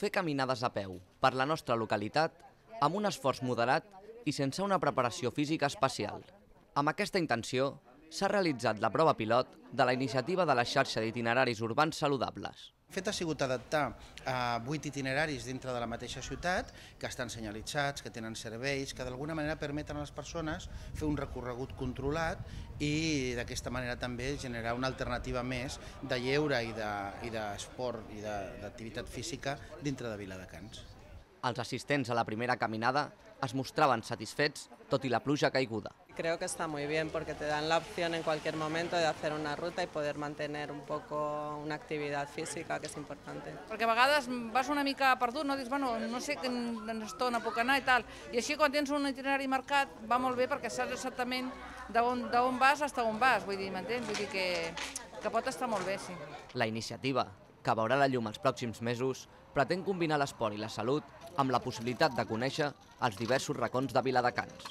fer caminades a peu per la nostra localitat amb un esforç moderat i sense una preparació física especial. Amb aquesta intenció s'ha realitzat la prova pilot de la iniciativa de la xarxa d'itineraris urbans saludables. El fet ha sigut adaptar 8 itineraris dintre de la mateixa ciutat, que estan senyalitzats, que tenen serveis, que d'alguna manera permeten a les persones fer un recorregut controlat i d'aquesta manera també generar una alternativa més de lleure i d'esport i d'activitat física dintre de Viladecans. Els assistents a la primera caminada es mostraven satisfets tot i la pluja caiguda. Creo que está muy bien porque te dan la opción en cualquier momento de hacer una ruta y poder mantener un poco una actividad física, que és important. Perquè a vegades vas una mica perdut, no? Dius, bueno, no sé quina estona puc anar i tal. I així quan tens un itinerari marcat va molt bé perquè saps exactament d'on vas fins on vas, vull dir, m'entens? Vull dir que pot estar molt bé, sí. La iniciativa, que veurà la llum els pròxims mesos, pretén combinar l'esport i la salut amb la possibilitat de conèixer els diversos racons de Viladecans.